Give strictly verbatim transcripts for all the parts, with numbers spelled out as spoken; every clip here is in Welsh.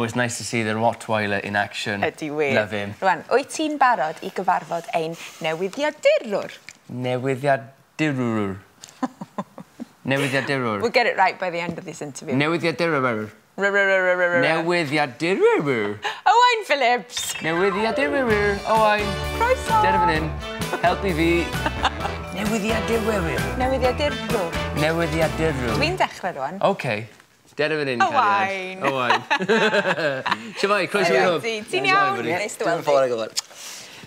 Always nice to see the Rottweiler in action. Ydy wir. Love him. Rwan, wyt ti'n barod i gyfarfod ein newyddiadurwr? Newyddiadurwr. Newyddiadurwr. We'll get it right by the end of this interview. Newyddiadurwr. R-r-r-r-r-r. Newyddiadurwr. Owain Phillips. Newyddiadurwr. Owain. Croeso. Dere fan hyn. Helpu fi. Newyddiadurwr. Newyddiadurwr. Newyddiadurwr. Dwi'n dechrau rwan. OK. Dere fan hyn, Owain. cariad. Owain. Shwmae, croeso i hwb. Ti'n iawn? Neis dy weld Dwi'n ffordd.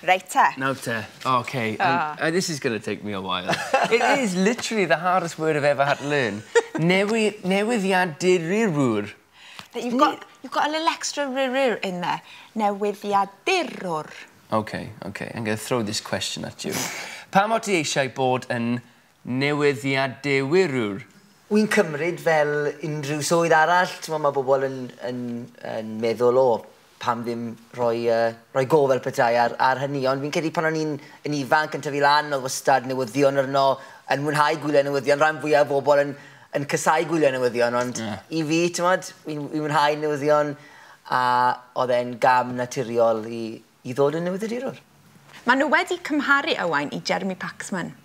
Reit te. Nawr te. Okay. Ah. And, uh, this is going to take me a while. It is literally the hardest word I've ever had to learn. Newy, newyddiadurwr. That you've got, you've got a little extra r in there. Newyddiadurwr. Okay, okay. I'm going to throw this question at you. Pam o ti eisiau bod yn newyddiadurwr? Wy'n cymryd fel unrhyw swydd arall. Ti'n mae bobl yn, yn, yn meddwl o pam ddim rhoi, uh, rhoi go fel petai ar, ar hynny. Ond fi'n credu pan o'n i'n yn ifanc yn tyfu lan, oedd wastad newyddion arno, yn mwynhau gwylio newyddion. Rhan fwyaf o bobl yn, yn casáu gwylio newyddion, ond Ie. i fi, ti'n modd, fi'n fi mwynhau newyddion, a oedd e'n gam naturiol i, i ddod yn newyddiadurwr. Maen nhw wedi cymharu Owain i Jeremy Paxman.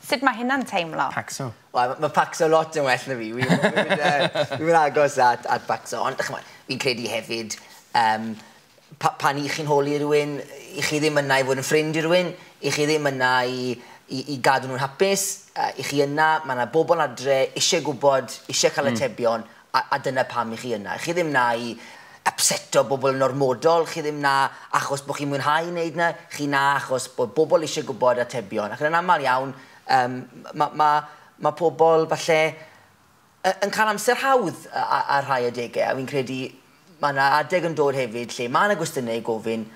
Sut mae hynna'n teimlo? Paxo. Wel, mae Paxo lot yn well na fi. Fi'n fi, fi agos at, at Paxo. Ond, ch'mod, fi'n credu hefyd, um, pa, pan i chi'n holi rhywun, i chi ddim yna i fod yn ffrind i rhywun, i chi ddim yna i, i, i gadw nhw'n hapus, uh, i chi yna, mae yna bobl adre eisiau gwybod, eisiau cael atebion, a, a dyna pam i chi yna. Chi ddim na i upseto bobl yn ormodol, chi ddim na achos bod chi'n mwynhau wneud na, chi na achos bod bobl eisiau gwybod atebion. Ac yn aml iawn, um, mae ma, ma pobl falle y- yn cael amser hawdd ar rhai adegau, a fi'n credu mae yna adeg yn dod hefyd lle mae yna gwestiynau i gofyn,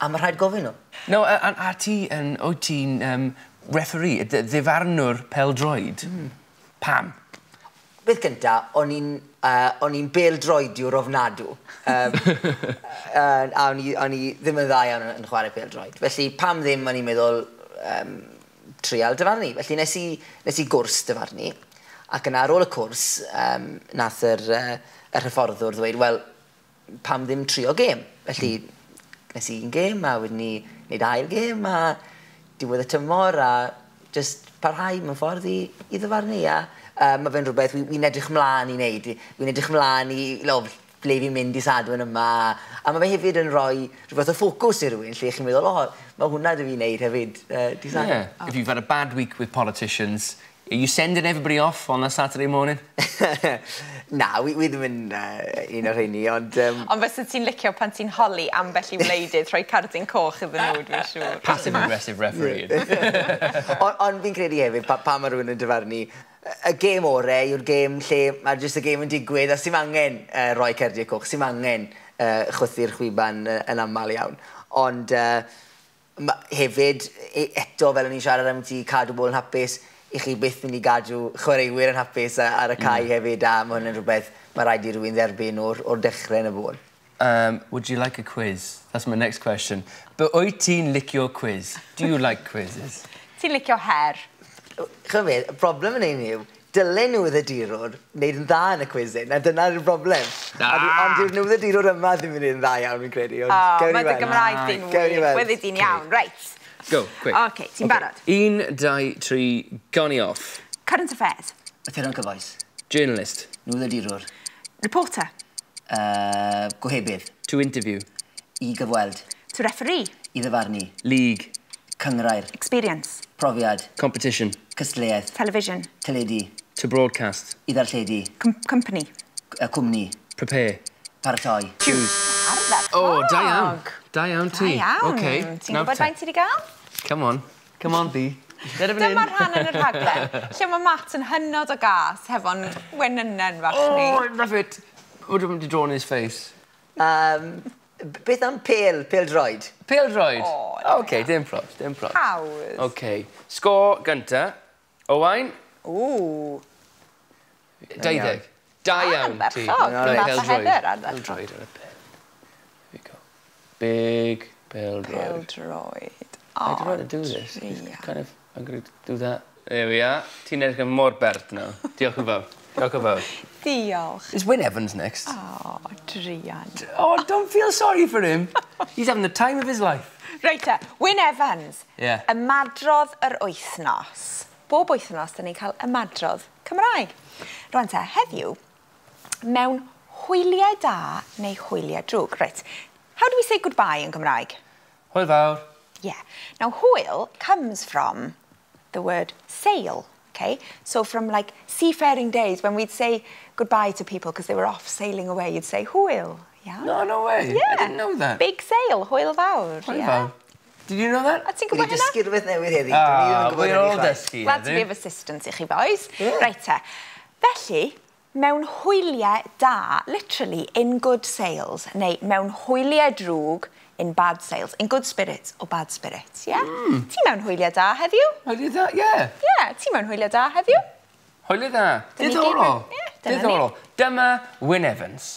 a mae rhaid gofyn nhw. No, a, a, a ti yn, wyt ti'n um, referee, d- ddifarnwr pêl-droed? Mm. Pam? Beth gynta, o'n i'n uh, o'n i'n bêl-droediwr ofnadw. Um, uh, a o'n i, o'n i ddim yn dda iawn yn, yn chwarae pêl-droed. Felly pam ddim o'n i'n meddwl um, trial dyfarnu. Felly nes i, nes i gwrs dyfarnu. Ac yna ar ôl y cwrs, um, nath yr, uh, yr hyfforddwr ddweud, wel, pam ddim trio gêm? Felly nes i un gêm, a wedyn ni wneud ail gêm, a diwedd y tymor, a just parhau mewn ffordd i, i ddyfarnu. A uh, mae fe'n rhywbeth wi'n edrych mlaen i wneud. Wi'n edrych mlaen i, lo, ble fi'n mynd i Sadwrn yma. A mae fe hefyd yn rhoi rhywbeth o ffocws i rhywun, lle chi'n meddwl, o, mae hwnna 'da fi wneud hefyd, uh, di Sadwrn. Yeah. If you've had a bad week with politicians, are you sending everybody off on a Saturday morning? Na, wi, wi ddim yn uh, un o'r rheini, ond... Um, Ond fysa ti'n licio pan ti'n holi ambell i wleidydd rhoi cardyn coch iddyn nhw, dwi'n siŵr. Passive-aggressive referee. Ond on fi'n credu hefyd, pa, pa mae rhywun yn dyfarnu, y gêm orau yw'r gêm lle mae jyst y gêm yn digwydd a sy'n angen uh, rhoi cerdiau coch, sy'n angen uh, chwythu'r chwiban uh, yn aml iawn. Ond uh, ma, hefyd, e, eto fel o'n i'n siarad am ti cadw bod yn hapus, i chi byth mynd i gadw chwaraewyr yn hapus ar y cae mm. hefyd, a mae hwn yn rhywbeth mae rhaid i rhywun dderbyn o'r, o'r dechrau yn y bôn. Um, would you like a quiz? That's my next question. But wyt ti'n licio quiz? Do you like quizzes? Ti'n licio her? Chymryd, y broblem yn ein yw, dyle newyddiadurwr wneud yn dda yn y quiz hyn, a dyna'r broblem. Ah! Ond dyw'r newyddiadurwr yma ddim yn wneud yn dda iawn, fi'n credu. Ond oh, mae dy Gymraeg di'n wych, weddi di'n iawn, reit. Go, quick. OK, ti'n barod? Un, dau, tri, goni off. Current affairs. Materion cyfoes. Journalist. Newyddiadurwr. Reporter. Uh, gohebydd. To interview. I gyfweld. To referee. I ddyfarnu. League. Cynghrair. Experience. Profiad. Competition. Cystadleuaeth. Television. Teledu. To broadcast. I ddarlledu. Com company. Y cwmni. Prepare. Paratoi. Choose. Ardderchog. Oh, da iawn. Da iawn ti. Da iawn. Okay. Ti'n gwybod faint ti wedi gael? Come on. Come on, Dee. Dyma'r rhan yn y rhaglen, lle mae Matt yn hynod o gas hefo'n wenynen fach ni. Oh, I love it. What do you want to draw on his face? Um, beth am pêl, pêl droed? Pêl droed? Oh, OK, dim probs, dim probs. Hawdd. OK. Sgôr gynta. Owain? Ww. Deuddeg. Da iawn ti. Ardderchog. Pêl droed. Pêl droed ar y pen. Here we go. Big pêl droed. Pêl droed. I don't know how to do this. It's kind of, I'm going to do that. There we are. Ti'n edrych yn mor bert nawr. Diolch yn fawr. Diolch yn fawr. Diolch. Is Wyn Evans next? Oh, druan. Oh, don't feel sorry for him. He's having the time of his life. Reit te, Wyn Evans. Yeah. Ymadrodd yr wythnos. Bob wythnos, dyn ni'n cael ymadrodd Cymraeg. Rwan te, heddiw, mewn hwyliau da neu hwyliau drwg. Reit, how do we say goodbye in Cymraeg? Hwyl fawr. Yeah. Now, hwyl comes from the word sail, okay? So from like seafaring days when we'd say goodbye to people because they were off sailing away, you'd say hwyl, yeah? No, no way. Yeah. I didn't know that. Big sail, hwyl fawr. Hwyl yeah. fawr. Did you know that? A ti'n Wedi gwybod hynna? dysgu rhywbeth newydd heddi. Ah, Dwn i ddim yn gwybod we're hynny all chwaith. dysgu Glad to be heddiw. of assistance i chi, boys. Yeah. Reit te. Felly, mewn hwyliau da, literally in good sails, neu mewn hwyliau drwg, in bad sails, in good spirits or bad spirits, yeah? Mm. Ti mewn hwyliau da heddiw? Hwyliau da, yeah. Yeah, ti mewn hwyliau da heddiw? Hwyliau da. Dyn ni gyd Diddorol. mewn- Ie, dyna ni. Diddorol. Dyma Wyn Evans.